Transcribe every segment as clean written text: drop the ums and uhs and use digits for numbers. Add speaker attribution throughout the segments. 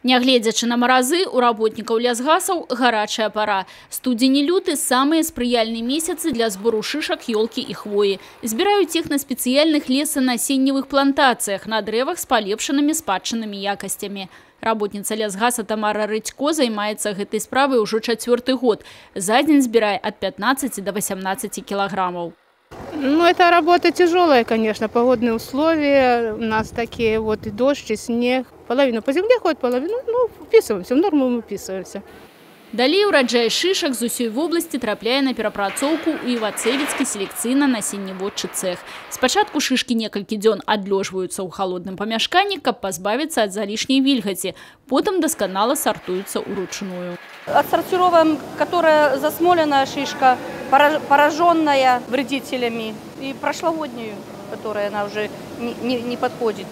Speaker 1: Нягледзячы на маразы, у работнікаў лясгасаў гарачая пара. Студзень і люты – самыя спрыяльныя месяцы для збору шышак, ёлкі і хвоі. Збіраюць іх на спецыяльных лесанасенневых плантацыях, на дрэвах з палепшанымі спадчыннымі якасцямі. Работніца лясгаса Тамара Рыдзько займаецца гэтай справай ужо 4-й год. За дзень збірае ад 15 до 18 килограммов.
Speaker 2: Ну, это работа тяжелая, конечно, погодные условия. У нас такие вот и дождь, и снег. Половину по земле ходит, половину, ну, вписываемся, в норму мы вписываемся.
Speaker 1: Далей ураджай шишак з усёй вобласці трапляе на перапрацоўку ў Івацэвіцкі селекцыйна-насенняводчы цэх. Спачатку шышкі некалькі дзён адлёжваюцца ў халодным памяшканні, каб пазбавіцца ад залішняй вільгаці. Потым дасканала сартуюцца ўручную.
Speaker 3: Отсортируем, которая засмоленная шишка, пораженная вредителями, и прошлогоднюю, которая она уже не подходит.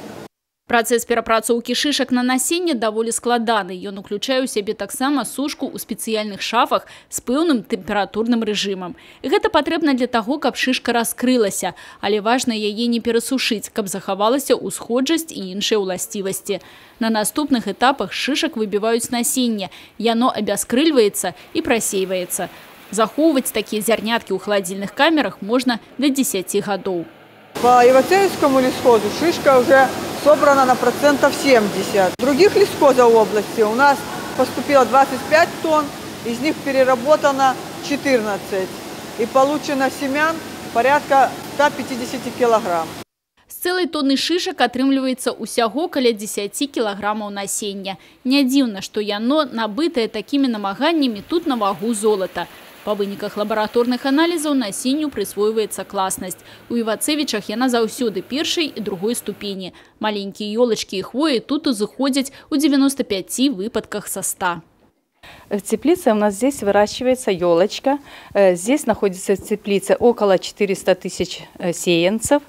Speaker 1: Працэс перапрацоўкі шышак на насенне даволі складаны. Ён уключае ў сябе таксама сушку ў спецыяльных шафах з пэўным тэмпературным рэжымам. І гэта патрэбна для таго, каб шышка раскрылася, але важна яе не перасушыць, каб захавалася ўсходжасць і іншыя ўласцівасці. На наступных этапах шышак выбіваюць насенне, яно абяскрыльваецца і прасейваецца. Захоўваць такія зярняткі ў халадзільных камерах можна да 10 гадоў.
Speaker 4: По Ивацеевскому лесхозу шишка уже собрана на процентов 70. В других лесхозах в области у нас поступило 25 тонн, из них переработано 14. И получено семян порядка 150 килограмм.
Speaker 1: З цэлай тонны шышак атрымліваецца усяго каля 10 кілаграмаў насення. Не дзіўна, што яно набытае такімі намаганнямі тут на вагу золата. Па выніках лабараторных аналізаў насенню прысвойваецца класнасць. У Івацэвічах яна заўсёды першай і другой ступені. Маленькія ёлачкі і хвоі тут узыходзяць у 95 выпадках со 100.
Speaker 5: В теплице у нас здесь выращивается елочка. Здесь находится в теплице около 400 тысяч сеянцев.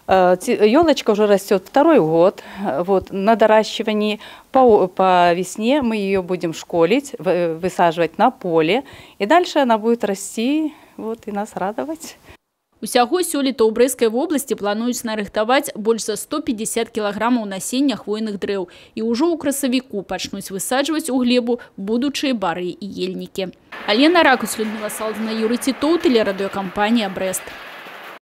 Speaker 5: Елочка уже растет 2-й год. Вот, на доращивании по весне мы ее будем школить, высаживать на поле. И дальше она будет расти вот, и нас радовать.
Speaker 1: Усяго сёлета ў Брэскай вобласці плануюць нарыхтаваць больш за 150 кілаграмаў насення хвойных дрэў. І ўжо ў красавіку пачнуць высаджваць у глебу будучыя бары і ельнікі. Алена Ракус, Людмила Салдина, Юрий Титов, телерадиокомпания «Брест».